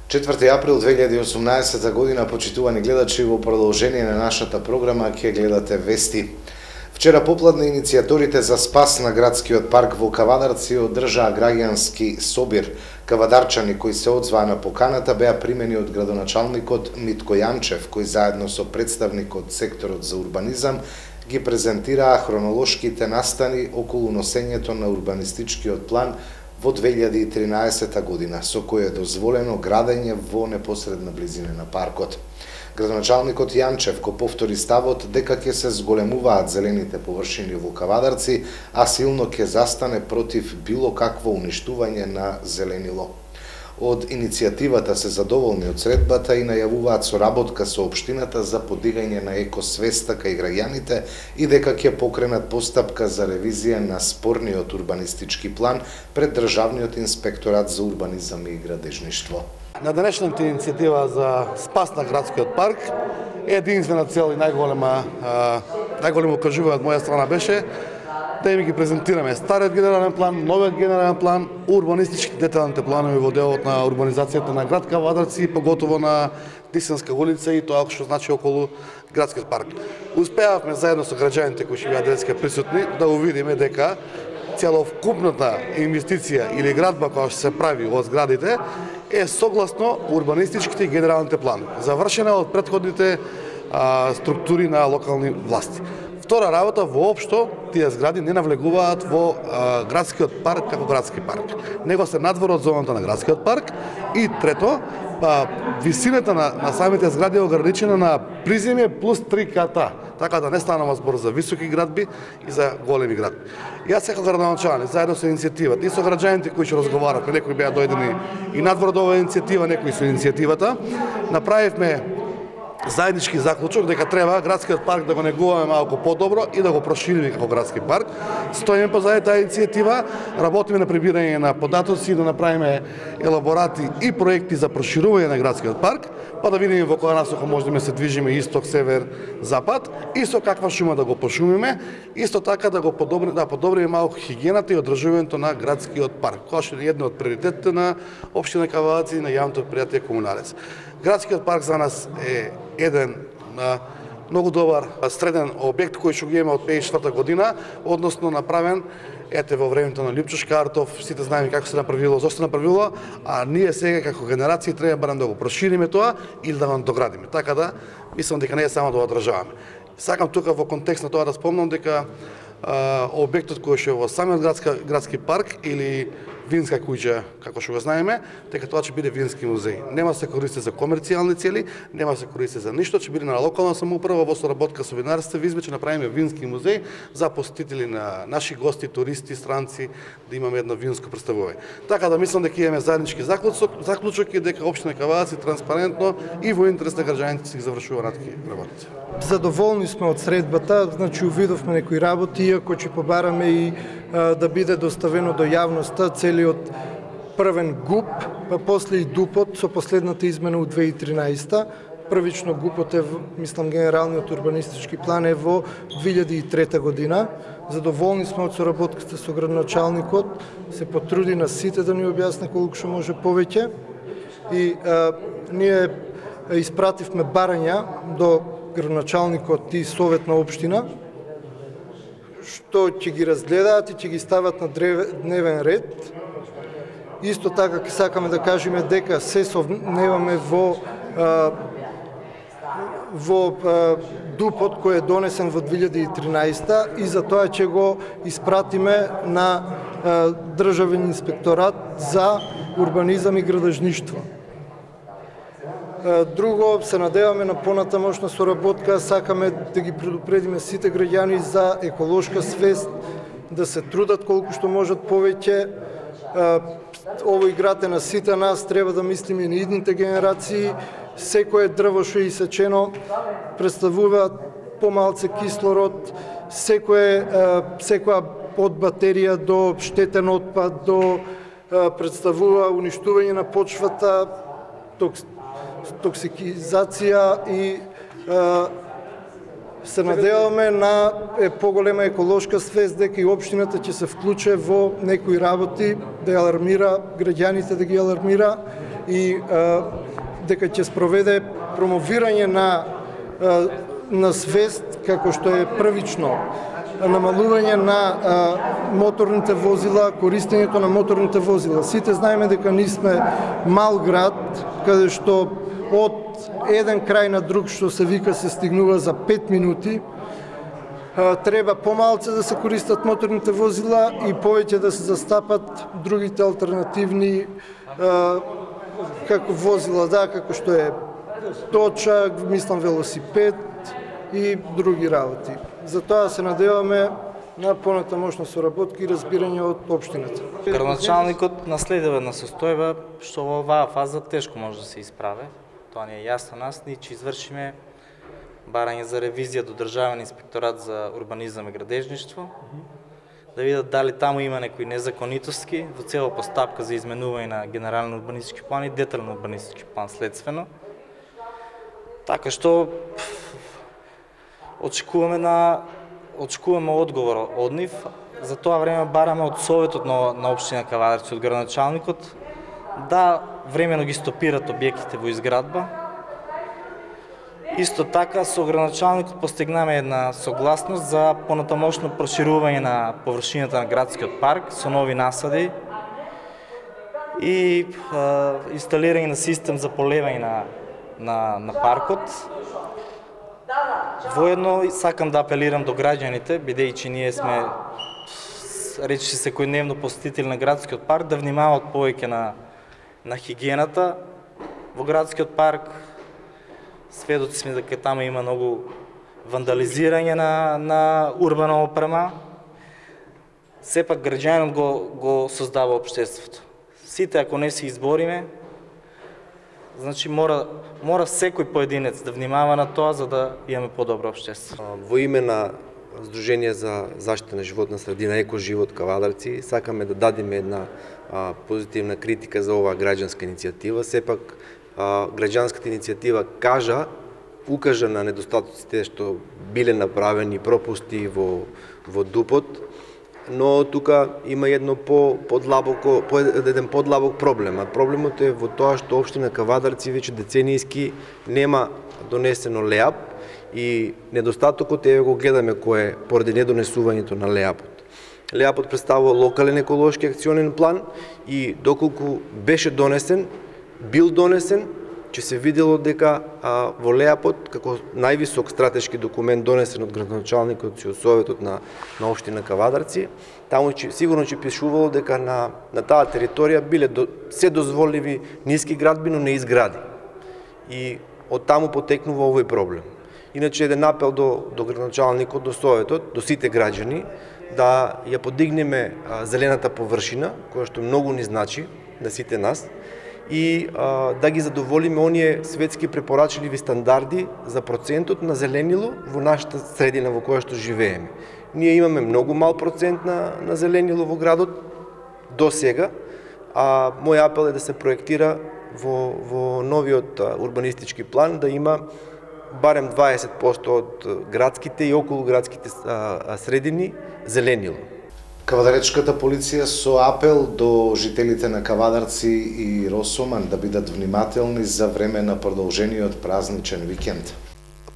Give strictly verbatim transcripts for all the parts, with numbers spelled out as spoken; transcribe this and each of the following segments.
четврти април две илјади и осумнаесета година, почитувани гледачи, во продолжение на нашата програма ќе гледате вести. Вчера попладне иницијаторите за спас на градскиот парк во Кавадарци одржаа граѓански собир. Кавадарчани кои се одзваа на поканата беа примени од градоначалникот Митко Јанчев, кој заедно со представник од секторот за урбанизам ги презентираа хронолошките настани околу носењето на урбанистичкиот план во две илјади и тринаесета година, со кој е дозволено градење во непосредна близина на паркот. Градоначалникот Јанчев го повтори ставот дека ќе се зголемуваат зелените површини во Кавадарци, а силно ќе застане против било какво уништување на зеленило. Од иницијативата се задоволни од средбата и најавуваат соработка со општината за подигање на екосвеста кај граѓаните и дека ќе покренат постапка за ревизија на спорниот урбанистички план пред Државниот инспекторат за урбанизам и градежништво. На денешната иницијатива за спас на градскиот парк единствена цел и најголема најголемо кажување од моја страна беше да им ги презентираме стариот генерален план, новиот генерален план, урбанистички деталните планови во делот на урбанизацијата на град Кавадарци, поготово на Тисанска улица и тоа што значи околу градскиот парк. Успеавме заедно со граѓаните кои ќе бидат денеска присутни да увидиме дека целокупната инвестиција или градба која што се прави од зградите е согласно урбанистичките и генералните планови, завршена од претходните а, структури на локални власти. Втора работа, воопшто тие згради не навлегуваат во а, градскиот парк како градски парк, него се надвор од зоната на градскиот парк. И трето, па, висината на, на самите згради е ограничена на приземје плюс три ката, така да не станува збор за високи градби и за големи градби. Јас како градоначалник, заедно со иницијативата и со граѓаните кои ќе разговаравме, некои беа дојдени и надвор од оваа иницијатива, некои со иницијативата, направивме заеднички заклучок дека треба градскиот парк да го негуваме малку подобро и да го прошириме како градски парк. Стоиме позади таа иницијатива, работиме на прибирање на податоци, да направиме елаборати и проекти за проширување на градскиот парк, па да видиме во која насока можеме да се движиме исток, север, запад и со каква шума да го пошумиме, исто така да го подобриме, да подобриме малку хигиената и одржувањето на градскиот парк, која што е една од приоритетите на општина Кавадарци и на јавното предпријатие Комуналец. Градскиот парк за нас е еден на многу добар среден објект кој што го имаме од петдесет и четврта година, односно направен ете во времето на Лјупчо Шкартов, сите знаеме како се направило, зошто се направило, а ние сега како генерации треба барем да го прошириме тоа или да го доградиме. Така да мислам дека не е само да го одржаваме. Сакам тука во контекст на тоа да спомнам дека а, објектот кој што е во самиот градски, градски парк или винска куќа, како што го знаеме, дека тоа ќе биде вински музеј. Нема да се користи за комерцијални цели, нема да се користи за ништо, ќе биде на локална самоуправа во соработка со винарството во Избе, ќе направиме вински музеј за посетители на наши гости, туристи, странци, да имаме едно винско представување. Така да мислам дека имаме заеднички заклучок, заклучок и дека општина Кавадарци транспарентно и во интерес на граѓаните си ги завршува натки работи. Задоволни сме од средбата, значи увидовме некои работи, иако ќе побараме и а, да биде доставено до јавноста целиот првен ГУП, па после и ДУПот со последната измена од две илјади и тринаесета. Првично ГУПот е, мислам, генералниот урбанистички план е во две илјади и трета година. Задоволни сме од соработката со градоначалникот, се потруди на сите да ни објасни колку што може повеќе. И а, ние испративме барања до градоначалникот и совет на општина, што ќе ги разгледаат и ќе ги стават на дневен ред. Исто така ќе сакаме да кажеме дека се совневаме во а, во а, ДУПот кој е донесен во две илјади и тринаесета и за тоа ќе го испратиме на а, Државен инспекторат за урбанизам и градежништво. Друго, се надеваме на понатамошна соработка, сакаме да ги предупредиме сите граѓани за еколошка свест, да се трудат колку што можат повеќе. Овој град е на сите нас, треба да мислиме и на идните генерации. Секое дрво што е исечено представува помалце кислород, секое, секоја од батерија до штетен отпад, до представува уништување на почвата, токсикизација и е, се надеваме на е, поголема еколошка свест дека и општината ќе се вклучи во некои работи, да ја алармира граѓаните, да ги алармира и а, дека ќе спроведе промовирање на а, на свест како што е првично намалување на а, моторните возила, користењето на моторните возила. Сите знаеме дека ние сме мал град, каде што од еден крај на друг што се вика се стигнува за пет минути. А, треба помалце да се користат моторните возила и повеќе да се застапат другите алтернативни а, како возила, да, како што е точак, мислам велосипед и други работи. Затоа се надеваме на понатамошна соработка и разбирање од општината. Градоначалникот наследува една состојба што во оваа фаза тешко може да се исправе. Тоа ни е јасно нас, ние ќе извршиме барање за ревизија до Државен инспекторат за урбанизам и градежништво, да видат дали таму има некои незаконитоски во цела постапка за изменување на генерален урбанистички план и детален урбанистички план следствено. Така што очекуваме на очекуваме одговор од нив. За тоа време бараме од советот на, на општина Кавадарци, од градоначалникот, да времено ги стопират објектите во изградба. Исто така со градоначалникот постигнаме една согласност за понатамошно проширување на површината на градскиот парк со нови насади и а, инсталирање на систем за полевање на, на, на паркот. Воедно сакам да апелирам до граѓаните, бидејќи ние сме речиси секојдневно посетители на градскиот парк, да внимаваат повеќе на, на хигиената во градскиот парк. Сведоци сме дека таму има многу вандализирање на, на урбана опрема. Сепак граѓанинот го, го создава општеството. Сите ако не се избориме, значи мора, мора секој поединец да внимава на тоа за да имаме подобро општество. Во име на Сдружение за заштита на животна средина Екоживот Кавадарци сакаме да дадеме една а, позитивна критика за оваа граѓанска иницијатива. Сепак а, граѓанската иницијатива кажа, укажа на недостатоците што биле направени пропусти во во ДУПот, но тука има едно по подлабоко по еден подлабок проблем. А проблемот е во тоа што општина Кавадарци веќе деценијски нема донесено ЛЕАП и недостатокот е го гледаме кој е поради недонесувањето на ЛЕАПот. ЛЕАПот представува локален еколошки акционен план и доколку беше донесен, бил донесен, че се видело дека а, во ЛЕАПот, како највисок стратешки документ донесен од градоначалникот и од советот на, на општина Кавадарци, таму че, сигурно че пишувало дека на, на таа територија биле до, се дозволиви ниски градби, но не изгради. И од таму потекнува овој проблем. Иначе еден апел до, до градоначалникот, до советот, до сите граѓани, да ја подигнеме а, зелената површина, која што многу ни значи на сите нас, и а, да ги задоволиме оние светски препорачливи стандарди за процентот на зеленило во нашата средина во која што живееме. Ние имаме многу мал процент на, на зеленило во градот до сега, а мој апел е да се проектира во, во новиот урбанистички план да има барем дваесет проценти од градските и околуградските средини зеленило. Кавадаречката полиција со апел до жителите на Кавадарци и Росоман да бидат внимателни за време на продолжениот празничен викенд.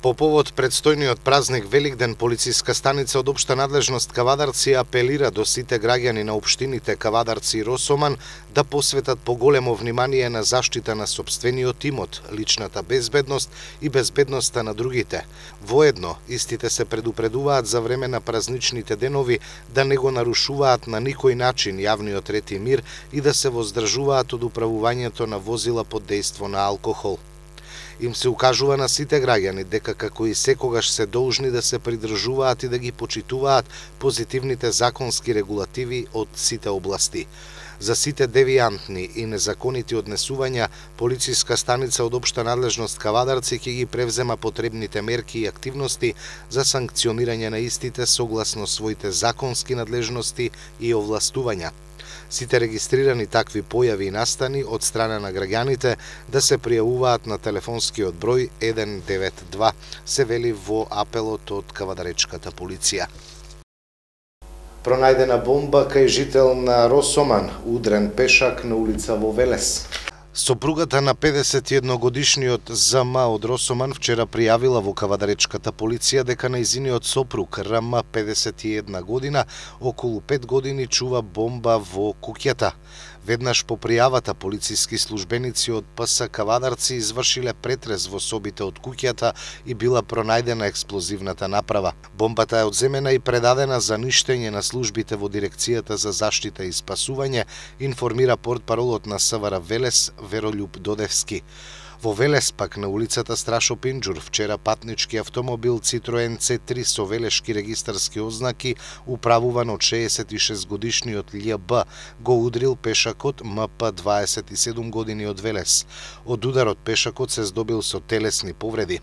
По повод предстојниот празник Великден, полициска станица од општа надлежност Кавадарци апелира до сите граѓани на општините Кавадарци и Росоман да посветат поголемо внимание на заштита на сопствениот имот, личната безбедност и безбедноста на другите. Воедно, истите се предупредуваат за време на празничните денови да не го нарушуваат на никој начин јавниот ред и мир и да се воздржуваат од управувањето на возила под дејство на алкохол. Им се укажува на сите граѓани дека како и секогаш се должни да се придржуваат и да ги почитуваат позитивните законски регулативи од сите области. За сите девијантни и незаконити однесувања, полициска станица од општа надлежност Кавадарци ќе ги превзема потребните мерки и активности за санкционирање на истите согласно своите законски надлежности и овластувања. Сите регистрирани такви појави и настани од страна на граѓаните да се пријавуваат на телефонскиот број еден девет два, се вели во апелот од Кавадаречката полиција. Пронајдена бомба кај жител на Росоман, удрен пешак на улица во Велес. Сопругата на педесет и едногодишниот З М од Росоман вчера пријавила во кавадаречката полиција дека нејзиниот сопруг Р М, педесет и една година, околу пет години чува бомба во куќата. Веднаш по пријавата полициски службеници од П С Кавадарци извршиле претрес во собите од куќата и била пронајдена експлозивната направа. Бомбата е одземена и предадена за ништење на службите во Дирекцијата за заштита и спасување, информира портпаролот на С В Р Велес Веролјуб Додевски. Во Велес пак на улицата Страшо Пинџур вчера патнички автомобил Citroen Ц три со велешки регистарски ознаки управуван од шеесет и шест годишниот Л Б го удрил пешакот М П дваесет и седум години од Велес. Од ударот пешакот се здобил со телесни повреди.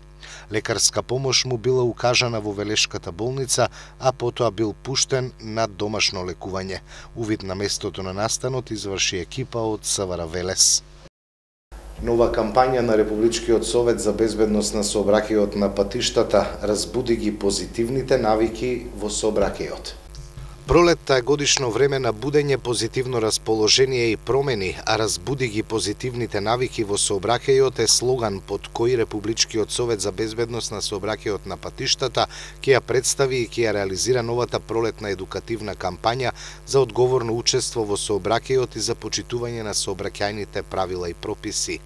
Лекарска помош му била укажана во Велешката болница, а потоа бил пуштен на домашно лекување. Увид на местото на настанот изврши екипа од С В Р Велес. Нова кампања на Републичкиот совет за безбедност на сообраќајот на патиштата разбуди ги позитивните навики во сообраќајот. Пролетта е годишно време на будење, позитивно расположение и промени, а разбуди ги позитивните навики во сообраќајот е слоган под кој Републичкиот совет за безбедност на сообраќајот на патиштата ќе ја представи и ќе ја реализира новата пролетна едукативна кампања за одговорно учество во сообраќајот и за почитување на сообраќајните правила и прописи.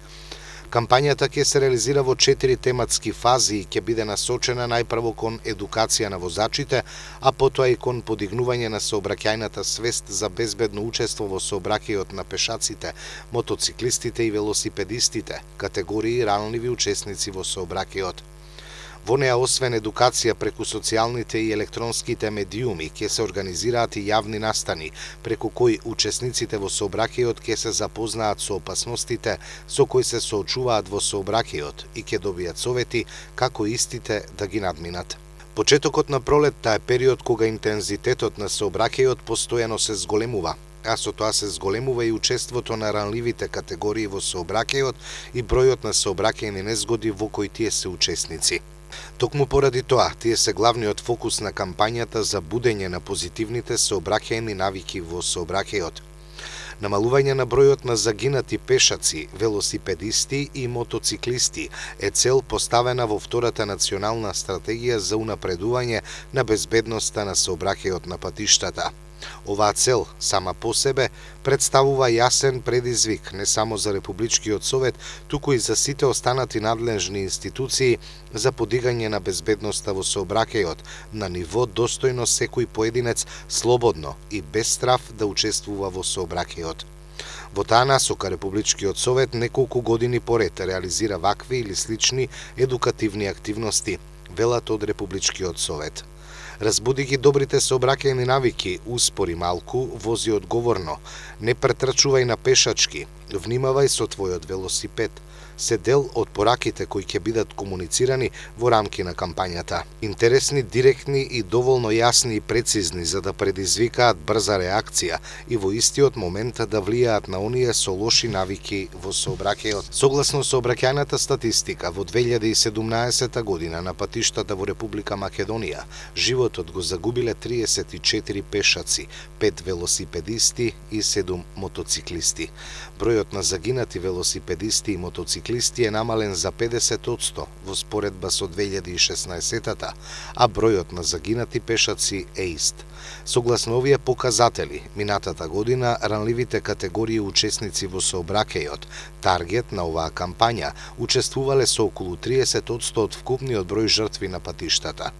Кампањата ќе се реализира во четири тематски фази и ќе биде насочена најпрво кон едукација на возачите, а потоа и кон подигнување на сообраќајната свест за безбедно учество во сообраќајот на пешаците, мотоциклистите и велосипедистите, категории ранливи учесници во сообраќајот. Во неа, освен едукација преку социјалните и електронските медиуми, ќе се организираат и јавни настани, преку кои учесниците во сообраќајот ќе се запознаат со опасностите со кои се соочуваат во сообраќајот и ќе добијат совети како истите да ги надминат. Почетокот на пролетта е период кога интензитетот на сообраќајот постојано се зголемува, а со тоа се зголемува и учеството на ранливите категории во сообраќајот и бројот на сообраќајни незгоди во кои тие се учесници. Токму поради тоа, тие се главниот фокус на кампањата за будење на позитивните сообраќајни навики во сообраќајот. Намалување на бројот на загинати пешаци, велосипедисти и мотоциклисти е цел поставена во втората национална стратегија за унапредување на безбедноста на сообраќајот на патиштата. Оваа цел, сама по себе, представува јасен предизвик не само за Републичкиот совет, туку и за сите останати надлежни институции за подигање на безбедноста во сообраќајот на ниво достојно секој поединец слободно и без страв да учествува во сообраќајот. Во таа насока Републичкиот совет неколку години поред реализира вакви или слични едукативни активности, велат од Републичкиот совет. Разбуди ги добрите сообраќајни навики, успори малку, вози одговорно, не претрчувај на пешачки, внимавај со твојот велосипед, се дел од пораките кои ќе бидат комуницирани во рамки на кампањата. Интересни, директни и доволно јасни и прецизни за да предизвикаат брза реакција и во истиот момент да влијаат на оние со лоши навики во сообраќајот. Согласно сообраќајната статистика, во две илјади и седумнаесета година на патиштата во Република Македонија животот го загубиле триесет и четири пешаци, пет велосипедисти и седум мотоциклисти. Бројот на загинати велосипедисти и мотоциклисти е намален за педесет одсто во споредба со две илјади и шеснаесетата, а бројот на загинати пешаци е ист. Согласно овие показатели, минатата година ранливите категории учесници во сообраќајот, таргет на оваа кампања, учествувале со околу триесет одсто од вкупниот број жртви на патиштата.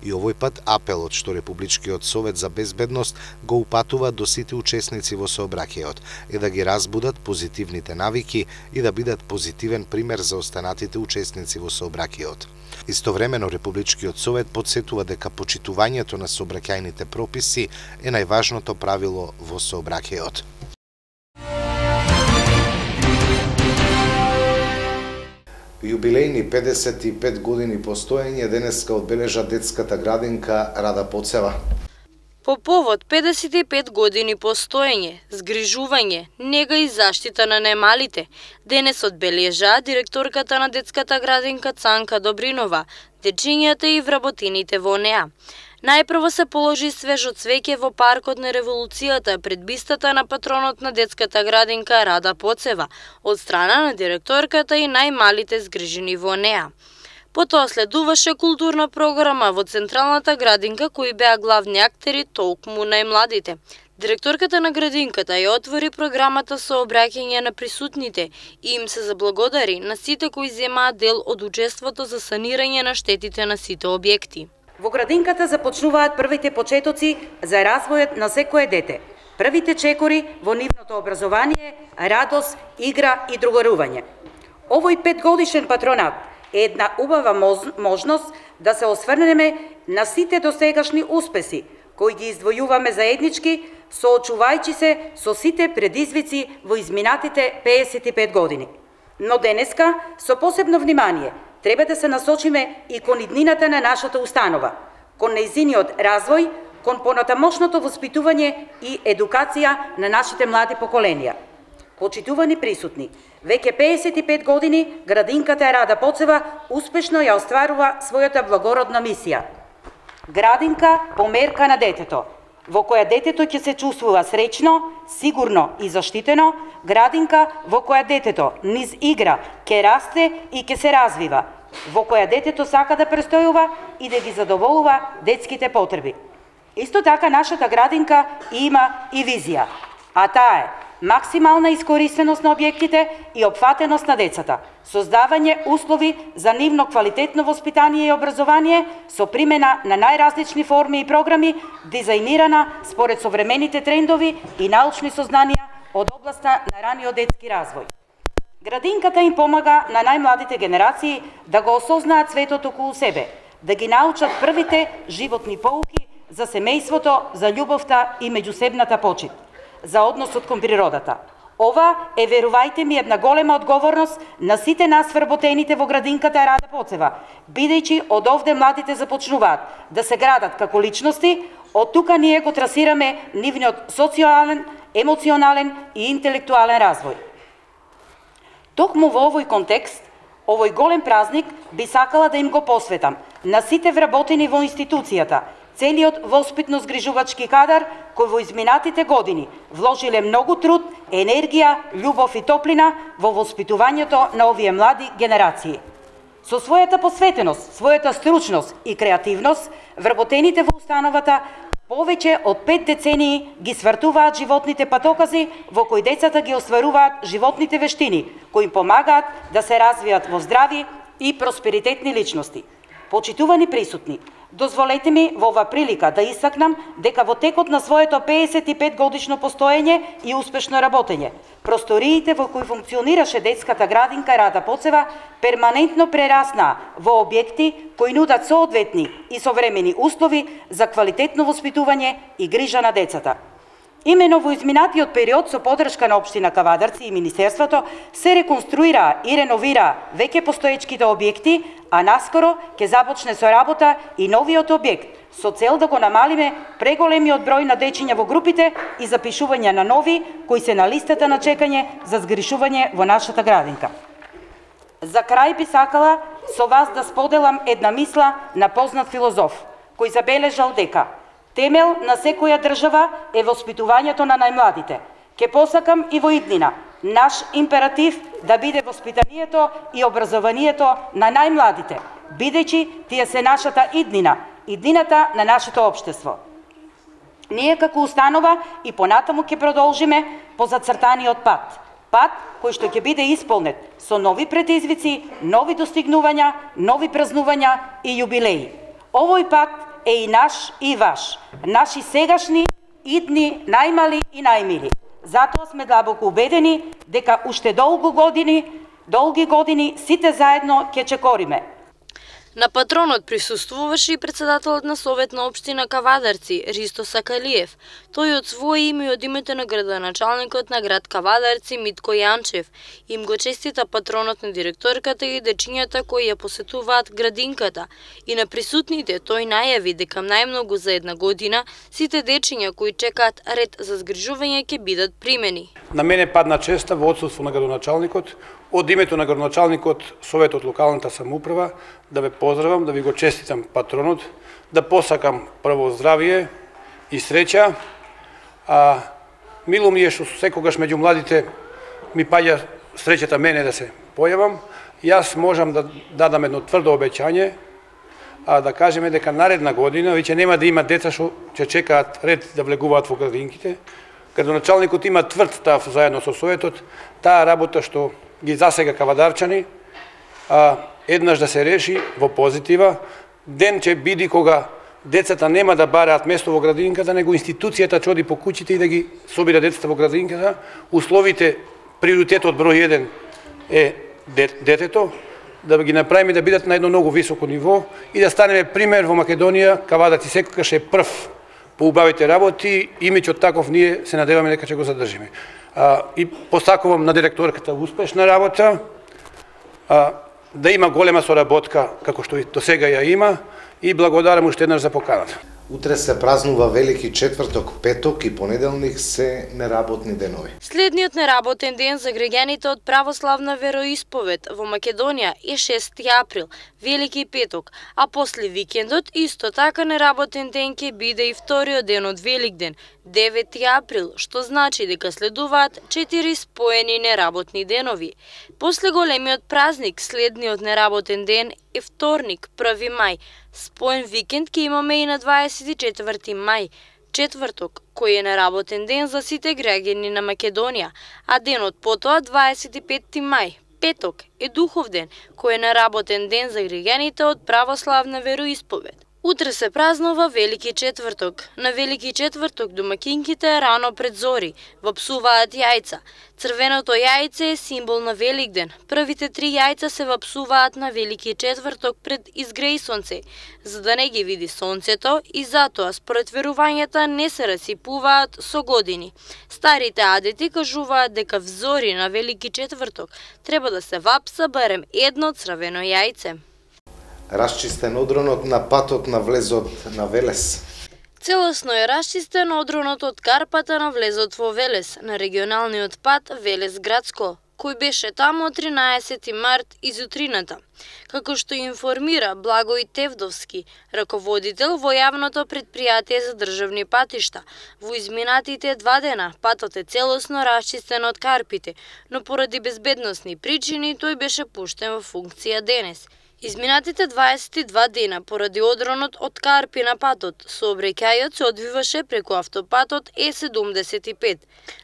И овој пат апелот што Републичкиот совет за безбедност го упатува до сите учесници во сообраќајот е да ги разбудат позитивните навики и да бидат позитивен пример за останатите учесници во сообраќајот. Истовремено Републичкиот совет потсетува дека почитувањето на сообраќајните прописи е најважното правило во сообраќајот. Јубилејни педесет и пет години постоење денеска одбележа детската градинка Рада Поцева. По повод педесет и пет години постоење, згрижување, нега и заштита на најмалите, денес одбележа директорката на детската градинка Цанка Добринова, дечињата и вработините во неа. Најпрво се положи свежо цвеќе во паркот на Револуцијата пред бистата на патронот на детската градинка Рада Поцева од страна на директорката и најмалите згрижени во неа. Потоа следуваше културна програма во централната градинка кои беа главни актери толкму најмладите. Директорката на градинката ја отвори програмата со обраќање на присутните и им се заблагодари на сите кои земаа дел од учеството за санирање на штетите на сите објекти. Во градинката започнуваат првите почетоци за развојот на секое дете. Првите чекори во нивното образование, радост, игра и другарување. Овој петгодишен патронат е една убава можност да се осврнеме на сите досегашни успеси кои ги издвојуваме заеднички, соочувајќи се со сите предизвици во изминатите педесет и пет години. Но денеска, со посебно внимание, треба да се насочиме и кон иднината на нашата установа, кон нејзиниот развој, кон понатамошното воспитување и едукација на нашите млади поколенија. Почитувани присутни, веќе педесет и пет години градинката Рада Поцева успешно ја остварува својата благородна мисија. Градинка померка на детето, во која детето ќе се чувствува среќно, сигурно и заштитено, градинка во која детето низ игра ќе расте и ќе се развива, во која детето сака да престојува и да ги задоволува детските потреби. Исто така нашата градинка има и визија, а таа е максимална искористеност на објектите и опфатеност на децата, создавање услови за нивно квалитетно воспитание и образование со примена на најразлични форми и програми, дизајнирана според современите трендови и научни сознанија од областа на раниот детски развој. Градинката им помага на најмладите генерации да го осознаат светот околу себе, да ги научат првите животни поуки за семејството, за љубовта и меѓусебната почит, за односот кон природата. Ова е, верувајте ми, една голема одговорност на сите нас вработените во градинката Рада Поцева, бидејќи од овде младите започнуваат да се градат како личности, од тука ние го трасираме нивниот социјален, емоционален и интелектуален развој. Токму во овој контекст, овој голем празник би сакала да им го посветам на сите вработени во институцијата, целиот воспитно-згрижувачки кадар кој во изминатите години вложиле многу труд, енергија, љубов и топлина во воспитувањето на овие млади генерации. Со својата посветеност, својата стручност и креативност, вработените во установата повеќе од пет децении ги свртуваат животните патокази во кои децата ги остваруваат животните вештини, кои им помагаат да се развијат во здрави и просперитетни личности. Почитувани присутни, дозволете ми во ова прилика да истакнам дека во текот на своето педесет и пет годишно постоење и успешно работење, просториите во кои функционираше детската градинка Рада Поцева перманентно прераснаа во објекти кои нудат соодветни и современи услови за квалитетно воспитување и грижа на децата. Имено во изминатиот период со поддршка на општина Кавадарци и Министерството се реконструираа и реновираа веќе постоечките објекти, а наскоро ќе започне со работа и новиот објект со цел да го намалиме преголемиот број на дечиња во групите и запишување на нови кои се на листата на чекање за згришување во нашата градинка. За крај би сакала со вас да споделам една мисла на познат филозоф кој забележал дека темел на секоја држава е воспитувањето на најмладите. Ке посакам и во иднина наш императив да биде воспитанието и образованието на најмладите, бидејќи тие се нашата иднина, иднината на нашето општество. Ние како установа и понатаму ќе продолжиме по зацртаниот пат. Пат кој што ќе биде исполнет со нови предизвици, нови достигнувања, нови празнувања и јубилеи. Овој пат е и наш и ваш, наши сегашни, идни, најмали и најмили. Затоа сме длабоко убедени дека уште долго години, долги години сите заедно ќе чекориме. На патронот присуствуваше и председателот на Совет на општина Кавадарци, Ристо Сакалиев. Тој од своје име и од името на градоначалникот на град Кавадарци Митко Јанчев им го честита патронот на директорката и дечињата кои ја посетуваат градинката. И на присутните тој најави дека најмногу за една година сите дечиња кои чекаат ред за згрижување ќе бидат примени. На мене падна честа во отсуство на градоначалникот од името на градоначалникот, Советот локалната самоуправа, да ве поздравам, да ви го честитам патронот, да посакам прво здравие и среќа. А, мило ми е што секогаш меѓу младите ми паѓа среќата мене да се појавам. Јас можам да дадам едно тврдо обеќање, а да кажеме дека наредна година веќе нема да има деца што ќе чекаат ред да влегуваат во градинките. Градоначалникот има тврд став заедно со Советот, таа работа што ги засега кавадарчани, а, еднаш да се реши во позитива. Ден ќе биде кога децата нема да бараат место во градинката, него институцијата ќе оди по куќите и да ги собира децата во градинката. Условите, приоритетот број еден е детето, да ги направиме да бидат на едно многу високо ниво и да станеме пример во Македонија, кавадарци секогаш е прв по убавите работи, имиџот таков ние се надеваме дека ќе го задржиме. А, и посакувам на директорката успешна работа, а, да има голема соработка како што и до сега ја има, и благодарам уште еднаш за поканата. Утре се празнува Велики четврток, петок и понеделник се неработни денови. Следниот неработен ден за граѓаните од православна вероисповед во Македонија е шести април, Велики петок, а после викендот исто така неработен ден ќе биде и вториот ден од Великден, девети април, што значи дека следуваат четири споени неработни денови. После големиот празник, следниот неработен ден е вторник, први мај. Споен викенд ќе имаме и на дваесет и четврти мај, четврток, кој е неработен ден за сите граѓани на Македонија, а денот потоа дваесет и петти мај, петок, е духов ден, кој е неработен ден за граѓаните од православна вероисповед. Утре се празнува Велики четврток. На Велики четврток домакинките рано пред зори вапсуваат јајца. Црвеното јајце е символ на Великден. Првите три јајца се вапсуваат на Велики четврток пред изгреј сонце, за да не ги види сонцето и затоа според верувањата не се расипуваат со години. Старите адети кажуваат дека взори на Велики четврток треба да се вапса барем едно црвено јајце. Расчистен одронот на патот на влезот на Велес. Целосно е расчистен одронот од Карпата на влезот во Велес, на регионалниот пат Велес-Градско, кој беше таму од тринаесети март изутрината. Како што информира Благој Тевдовски, раководител во јавното предпријатие за државни патишта, во изминатите два дена патот е целосно расчистен од Карпите, но поради безбедносни причини тој беше пуштен во функција денес. Изминатите дваесет и два дена поради одронот од Карпи на патот, сообраќајот се одвиваше преку автопатот Е седумдесет и пет.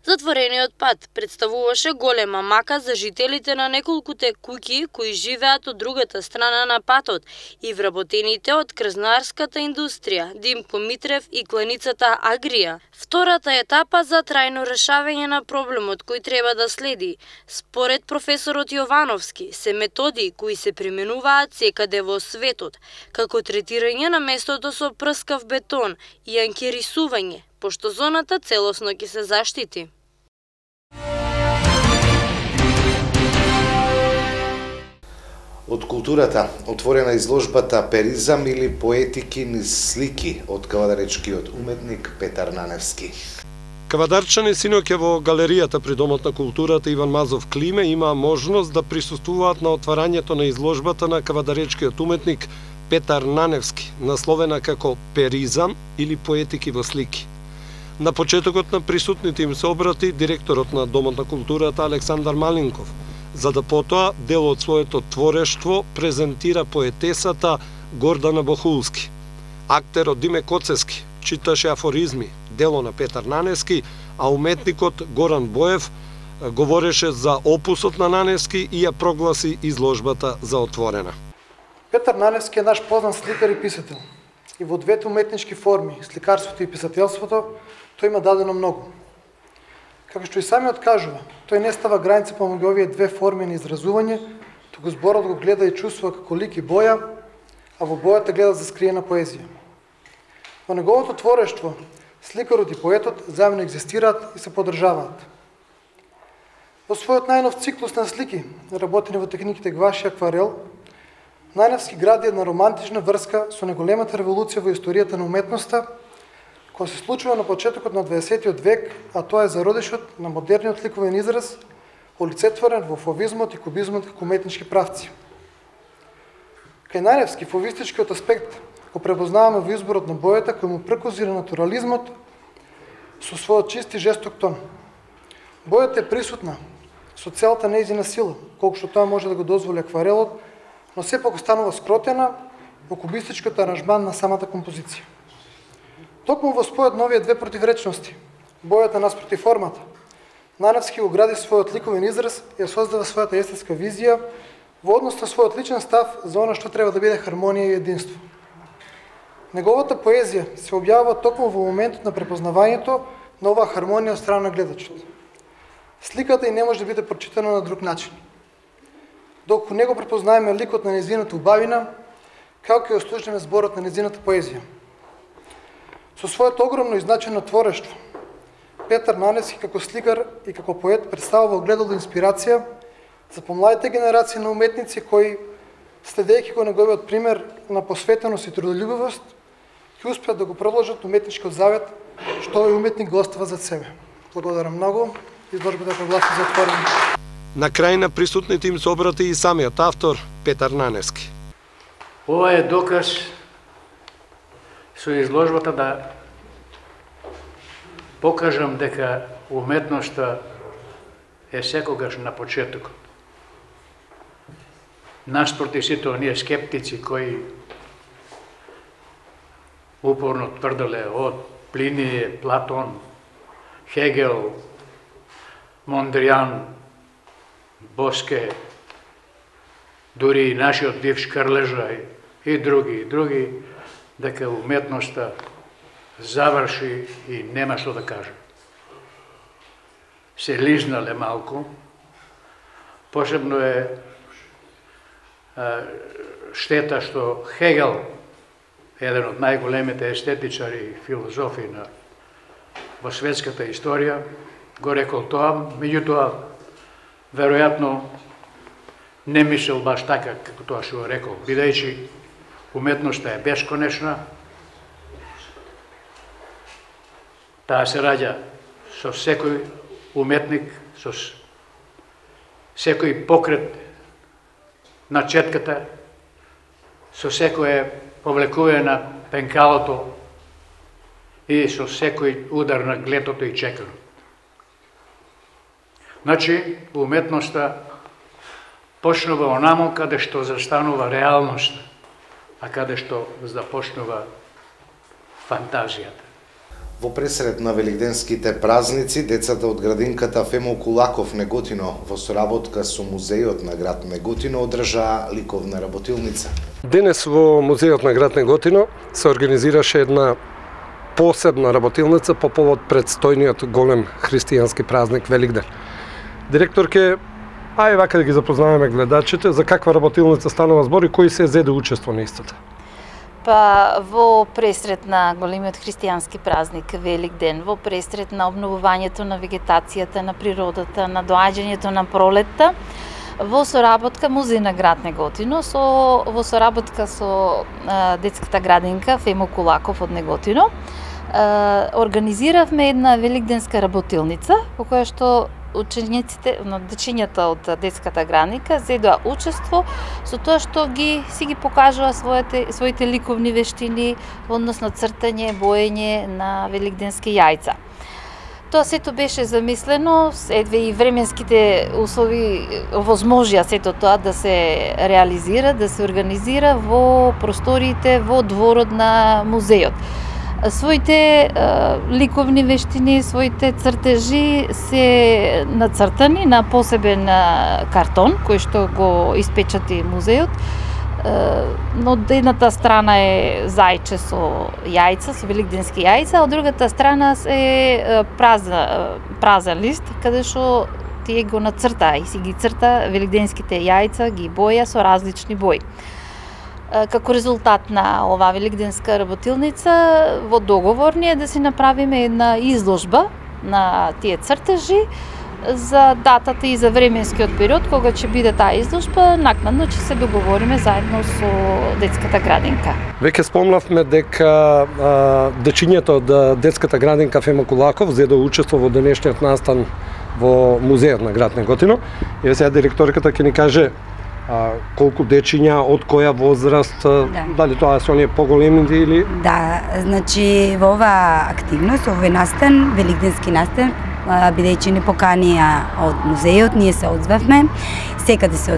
Затворениот пат представуваше голема мака за жителите на неколкуте куќи кои живеат од другата страна на патот и вработените од крзнарската индустрија, Димко Митрев и кланицата Агрија. Втората етапа за трајно решавање на проблемот кој треба да следи, според професорот Јовановски, се методи кои се применуваат секаде во светот, како третирање на местото со прскав бетон и анкерисување, пошто зоната целосно ќе се заштити. Од културата отворена изложбата Перизам или поетики низ слики од кавадаречкиот уметник Петар Наневски. Кавадарчани синоќа во галеријата при Домот на културата Иван Мазов Климе имаа можност да присуствуваат на отварањето на изложбата на кавадаречкиот уметник Петар Наневски, насловена како Перизам или поетики во слики. На почетокот на присутните им се обрати директорот на Домот на културата Александар Малинков, за да потоа дел од своето творештво презентира поетесата Гордана Бохулски. Актерот Диме Коцески читаше афоризми, дело на Петар Наневски, а уметникот Горан Боев говореше за опусот на Наневски и ја прогласи изложбата за отворена. Петар Наневски е наш познат сликар и писател. И во двете уметнички форми, сликарството и писателството, тој има дадено многу. Како што и самиот кажува, тој не става граница помеѓу овие две форми на изразување, туку зборот го гледа и чувствува како лик и боја, а во бојата гледа за скриена поезија. Во неговото творештво, сликарот и поетот заедно екзистираат и се поддржаваат. Во својот најнов циклус на слики, работени во техниките гуаш и акварел, Наневски гради една романтична врска со неголемата револуција во историјата на уметноста, која се случува на почетокот на дваесетиот век, а тоа е зародишот на модерниот ликовен израз, полицетворен во фовизмот и кубизмот како уметнички правци. Кај Наневски фовистичкиот аспект го препознаваме во изборот на бојата кој му прекозира натурализмот со својот чист и жесток тон. Бојата е присутна со целата нејзина сила, колку што тоа може да го дозволи акварелот, но сепак останува скротена во кубистичкиот аранжман на самата композиција. Токму во спојот на овие две противречности, бојата наспроти формата, Наневски го гради својот ликовен израз и ја создава својата естетска визија во однос на својот личен став за она што треба да биде хармонија и единство. Неговата поезија се објавува токму во моментот на препознавањето на оваа хармонија од страна на гледачот. Сликата и не може да биде прочитана на друг начин. Доколку не го препознаеме ликот на нејзината убавина, како ќе ослушнеме зборот на нејзината поезија. Со своето огромно и значајно творештво, Петар Наневски како сликар и како поет представува огледало инспирација за помладите генерации на уметници кои, следејќи го неговиот пример на посветеност и трудолюбивост, ќе успеат да го продолжат уметничкиот завет што овој уметник го остава зад себе. Благодарам многу. Изложбата прогласи за отворена. На крај на присутните им се обрати и самиот автор Петар Наневски. Ова е доказ со изложбата да покажам дека уметноста е секогаш на почетокот. Наспроти сите оние скептици кои упорно тврделе од Плиние, Платон, Хегел, Мондријан, Боске, дури и нашиот бивш Крлежа и други, и други, дека уметноста заврши и нема што да кажа. Се лизнале малку, посебно е штета што Хегел, еден од најголемите естетичари и филозофи на во светската историја, го рекол тоа, меѓутоа, веројатно, не мислел баш така како тоа што го рекол, бидејќи уметноста е бесконечна, таа се раѓа со секој уметник, со секој покрет на четката, со секој повлекување на пенкалото и со секој удар на глетото и чеканот. Значи, уметноста почнува онамо каде што застанува реалноста, а каде што започнува фантазијата. Во пресред на великденските празници, децата од градинката Фемо Кулаков Неготино во соработка со музејот на град Неготино одржаа ликовна работилница. Денес во музејот на град Неготино се организираше една посебна работилница по повод предстојниот голем христијански празник Великден. Директорке, ај вака да ги запознаваме гледачите за каква работилница станува збор и кои се зеде учество на истата. Па во пресред на големиот христијански празник Великден, во пресред на обновувањето на вегетацијата, на природата, на доаѓањето на пролетта, во соработка Музеј на град Неготино, со, во соработка со а, детската градинка Фемо Кулаков од Неготино, а, организиравме една великденска работилница, во која што учениците, дечињата од детската градинка зедоа учество со тоа што ги си ги покажува своите своите ликовни вештини во однос на цртање, боење на великденски јајца. Тоа сето беше замислено, едве и временските услови овозможија сето тоа да се реализира, да се организира во просториите во дворот на музејот. Своите е, ликовни вештини, своите цртежи се нацртани на посебен картон кој што го испечати музејот. Но од едната страна е зајче со јајца, со великденски јајца, а од другата страна е празна, празен лист, каде што тие го нацрта и си ги црта великденските јајца, ги боја со различни бои. Како резултат на оваа великденска работилница, во договор ни е да си направиме една изложба на тие цртежи за датата и за временскиот период кога ќе биде таа изложба, накнадно ќе се договориме заедно со детската градинка. Веќе спомнавме дека а, дечињето од детската градинка Фемо Кулаков зедо учество во денешниот настан во музејот на град Неготино. И сега директорката ќе ни каже а, колку дечиња, од која возраст, да. Дали тоа се оние поголеми или... Да, значи во оваа активност, овој настан, великденски настан, бидејќи ни поканија од музејот, ние се одзвавме, секаде се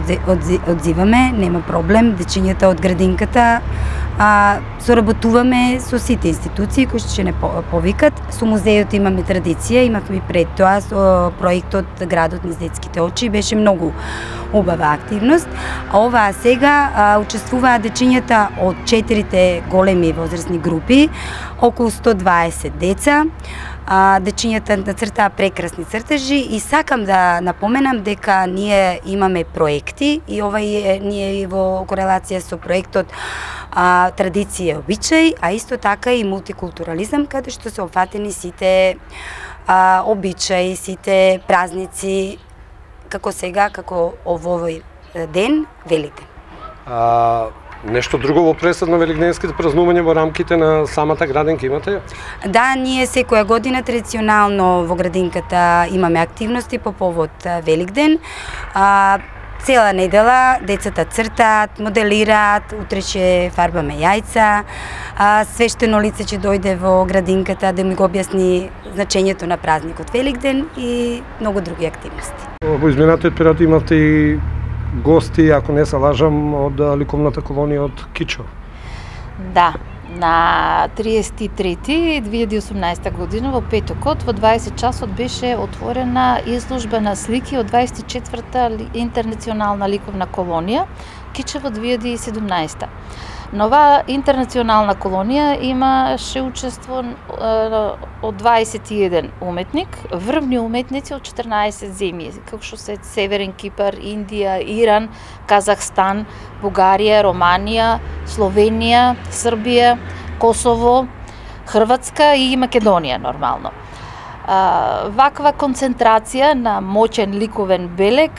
одзиваме, нема проблем, дечињата од градинката, а, соработуваме со сите институции кои што ќе не повикат. Со музејот имаме традиција, имавме пред тоа со проектот Градот низ детските очи, беше многу убава активност. А оваа сега а, учествуваат дечињата од четирите големи возрастни групи, околу сто дваесет деца. А, дечињата нацртаа прекрасни цртежи и сакам да напоменам дека ние имаме проекти и ова е ние во корелација со проектот а, Традиција и обичај, а исто така и мултикултурализам, каде што се опфатени сите а, обичаи, сите празници, како сега, како овој ден, Великден. А, нешто друго во пресед на великденските празнувања во рамките на самата градинка имате? Да, ние секоја година традиционално во градинката имаме активности по повод Великден. А, цела недела децата цртаат, моделираат, утре ќе фарбаме јајца, а, свештено лице ќе дојде во градинката да ми го објасни значењето на празникот Великден и многу други активности. Во изминатиот период имавте и гости, ако не се лажам, од ликовната колонија од Кичо. Да, на триесет и трети две илјади и осумнаесета година во петокот во дваесет часот беше отворена изложба на слики од дваесет и четврта интернационална ликовна колонија Кичево две илјади и седумнаесета. На оваа интернационална колонија имаше учество од дваесет и еден уметник, врвни уметници од четрнаесет земји, како што се Северен Кипар, Индија, Иран, Казахстан, Бугарија, Романија, Словенија, Србија, Косово, Хрватска и Македонија нормално. Ваква концентрација на моќен ликовен белег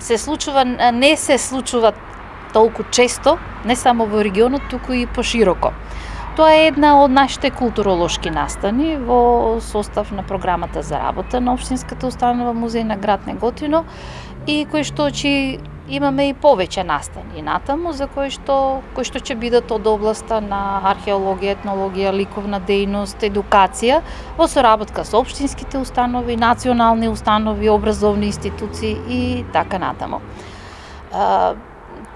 се случува, не се случува толку често, не само во регионот, туку и пошироко. Тоа е една од нашите културолошки настани во состав на програмата за работа на Општинската установа Музеј на град Неготино и кои што ќе имаме и повеќе настани натаму за кои што кои што ќе бидат од областа на археологија, етнологија, ликовна дејност, едукација во соработка со општинските установи, национални установи, образовни институции и така натаму.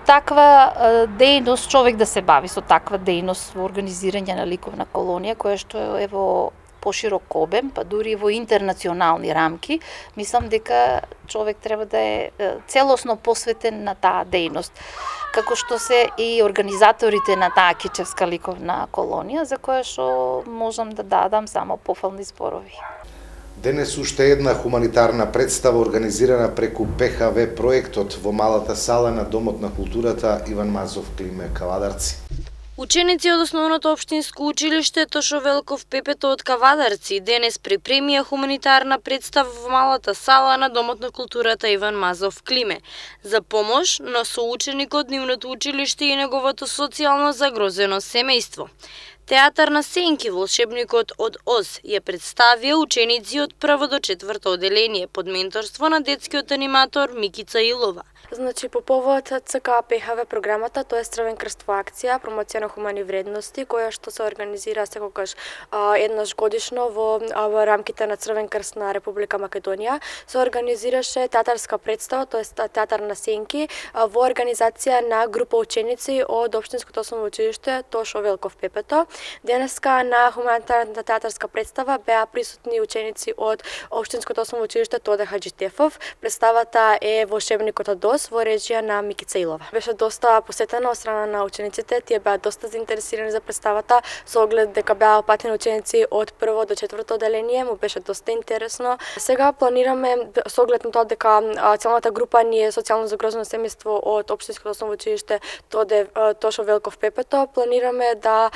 Таква дејност, човек да се бави со таква дејност во организирање на ликовна колонија, која што е во поширок обем, па дури во интернационални рамки, мислам дека човек треба да е целосно посветен на таа дејност. Како што се и организаторите на таа Кичевска ликовна колонија, за која што можам да дадам само пофални зборови. Денес уште една хуманитарна представа организирана преку Пе Ха Ве проектот во малата сала на Домот на културата Иван Мазов Климе Кавадарци. Ученици од Основното општинско училиште Тошо Велков Пепето од Кавадарци денес припремија хуманитарна представа во малата сала на Домот на културата Иван Мазов Климе за помош на соученик од нивното училиште и неговото социјално загрозено семејство. Театар на сенки, волшебникот од Оз, ја представија ученици од прво до четврто оделение под менторство на детскиот аниматор Микица Илова. Значи, по повод ЦК Пе Ха Ве програмата, тоа е Црвен крст во акција, промоција на хумани вредности, која што се организира секогаш а, еднаш годишно во, а, во рамките на Црвен крст на Република Македонија. Се организираше театарска представа, тоа е театар на сенки, а, во организација на група ученици од Општинското основно училиште Тошо Велков Пепето. Денеска на хуманитарната театарска представа беа присутни ученици од Општинското основно училиште Тоде Хаџитефов. Представата е Волшебникот од Оз во режија на Микица Илова. Беше доста посетена од страна на учениците, тие беа доста заинтересирани за представата, со оглед дека беа опатени ученици од прво до четврто оделение, му беше доста интересно. Сега планираме, со оглед на тоа дека целната група ни е социјално загрозено семејство од Општинското основно училиште Тоде Тошо Велков Пепето, планираме да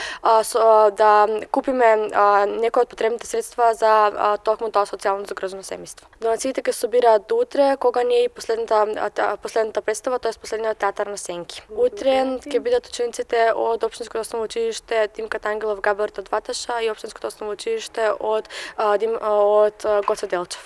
со, да купиме а, некои од потребните средства за а, токму тоа социјално загрозено семејство. Донациите ќе се собираат до утре, кога не е последната а, последната представа, тоа е последниот театар на Сенки. Утре ќе бидат учениците од општинското основно училиште Димката Ангелов Габарот од Ваташа и општинското основно училиште од а, Дим, а, од Гоце Делчев.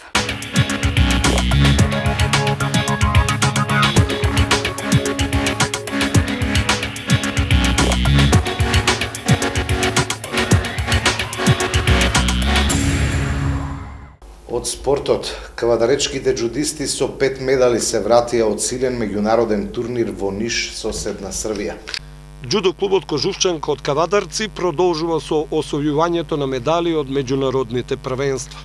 Од спортот, кавадаречките джудисти со пет медали се вратија од силен меѓународен турнир во Ниш, соседна Србија. Џудо клубот Кожувчанка од Кавадарци продолжува со освојувањето на медали од меѓународните првенства.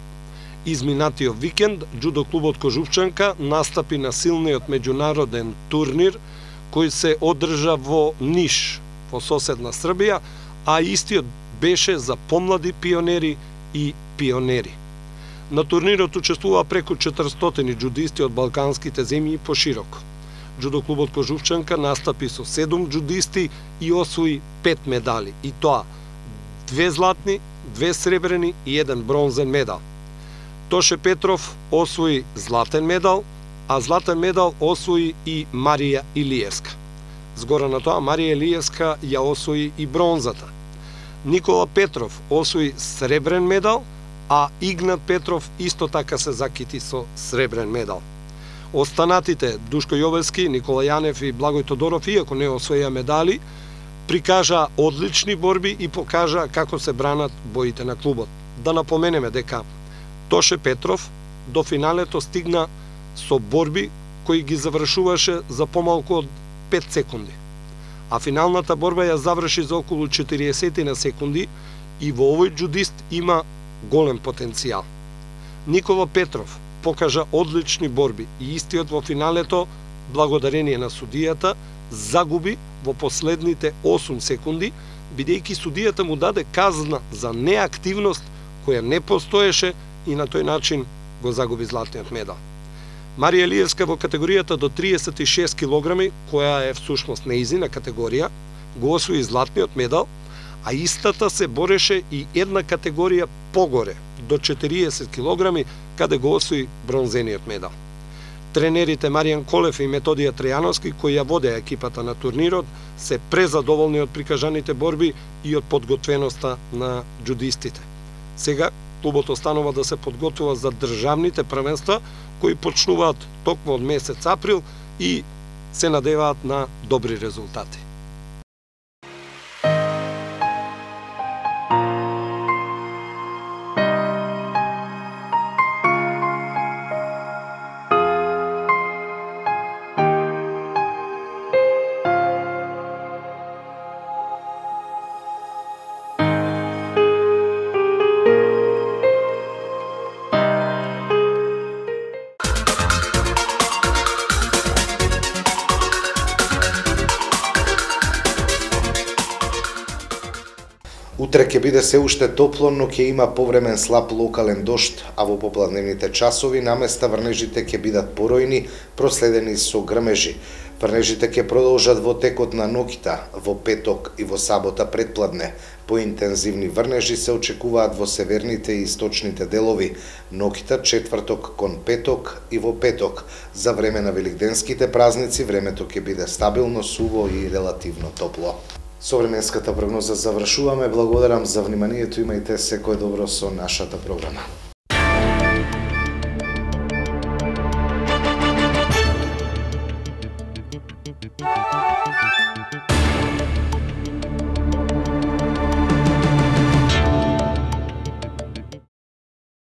Изминатиот викенд, џудо клубот Кожувчанка настапи на силниот меѓународен турнир кој се одржа во Ниш, во соседна Србија, а истиот беше за помлади пионери и пионери. На турнирот учествува преку четиристотини џудисти од балканските земји пошироко. Џудо клубот Кожувчанка настапи со седум џудисти и освои пет медали, и тоа две златни, две сребрени и еден бронзен медал. Тоше Петров освои златен медал, а златен медал освои и Марија Илиевска. Згора на тоа, Марија Илиевска ја освои и бронзата. Никола Петров освои сребрен медал, а Игнат Петров исто така се закити со сребрен медал. Останатите Душко Јовевски, Никола Јанев и Благој Тодоров, иако не освоја медали, прикажа одлични борби и покажа како се бранат боите на клубот. Да напоменеме дека Тоше Петров до финалето стигна со борби кои ги завршуваше за помалку од пет секунди. А финалната борба ја заврши за околу четириесет на секунди и во овој џудист има голем потенцијал. Никола Петров покажа одлични борби и истиот во финалето, благодарение на судијата, загуби во последните осум секунди, бидејќи судијата му даде казна за неактивност која не постоеше и на тој начин го загуби златниот медал. Марија Илиевска во категоријата до триесет и шест килограми, која е всушност неизина категорија, го освои златниот медал, а истата се бореше и една категорија погоре, до четириесет килограми, каде го освои бронзениот медал. Тренерите Маријан Колев и Методија Трејановски, кои ја водеа екипата на турнирот, се презадоволни од прикажаните борби и од подготвеноста на џудистите. Сега клубот останува да се подготвува за државните првенства, кои почнуваат токму од месец април и се надеваат на добри резултати. Утре ќе биде се уште топло, но ќе има повремен слаб локален дожд, а во попладневните часови наместа врнежите ќе бидат поројни, проследени со грмежи. Врнежите ќе продолжат во текот на ноќта, во петок и во сабота предпладне. Поинтензивни врнежи се очекуваат во северните и источните делови, ноќта четврток кон петок и во петок. За време на великденските празници времето ќе биде стабилно, суво и релативно топло. Со временската прогноза завршуваме. Благодарам за вниманието, имајте секое добро со нашата програма.